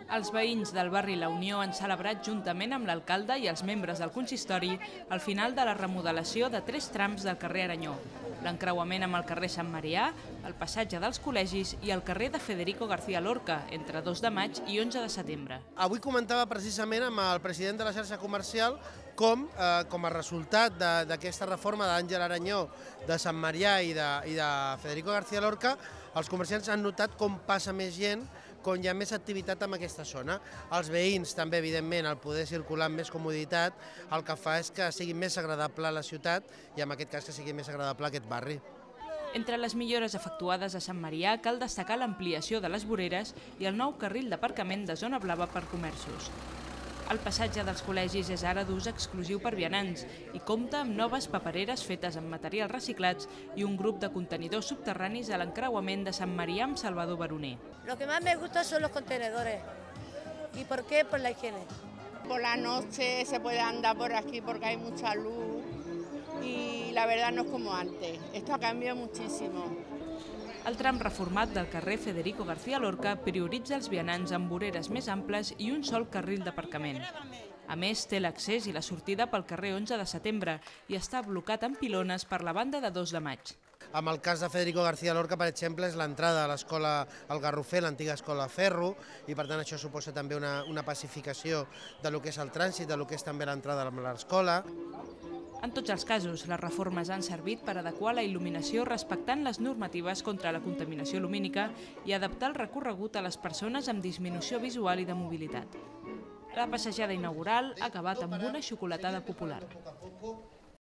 Els veïns del barri La Unió han celebrat juntament amb l'alcalde i els membres del consistori el final de la remodelació de 3 trams del carrer Aranyó, l'encreuament amb el carrer Sant Marià, el passatge dels col·legis i el carrer de Federico García Lorca, entre 2 de maig i 11 de setembre. Avui comentava precisament amb el president de la xarxa comercial com a resultat d'aquesta reforma d'Àngel Aranyó, de Sant Marià i de Federico García Lorca, els comerciants han notat com passa més gent, com hi ha més activitat en aquesta zona. Els veïns també, evidentment, al poder circular amb més comoditat, el que fa és que sigui més agradable la ciutat i en aquest cas que sigui més agradable aquest barri. Entre les millores efectuades a Sant Marià cal destacar l'ampliació de les voreres i el nou carril d'aparcament de zona blava per comerços. El passatge dels col·legis és ara d'ús exclusiu per vianants i compta amb noves papereres fetes amb materials reciclats i un grup de contenidors subterranis a l'encreuament de Sant Marià amb Salvador Baroner. Lo que más me gusta son los contenedores. ¿Y por qué? Por la higiene. Por la noche se puede andar por aquí porque hay mucha luz y la verdad no es como antes. Esto ha cambiado muchísimo. El tram reformat del carrer Federico García Lorca prioritza els vianants amb voreres més amples i un sol carril d'aparcament. A més, té l'accés i la sortida pel carrer 11 de setembre i està blocat amb pilones per la banda de 2 de maig. En el cas de Federico García Lorca, per exemple, és l'entrada a l'escola El Garrofer, l'antiga escola Ferro, i per tant això suposa també una pacificació de lo que és el trànsit, de lo que és també l'entrada a l'escola. En tots els casos, les reformes han servit per adequar la il·luminació respectant les normatives contra la contaminació lumínica i adaptar el recorregut a les persones amb disminució visual i de mobilitat. La passejada inaugural ha acabat amb una xocolatada popular.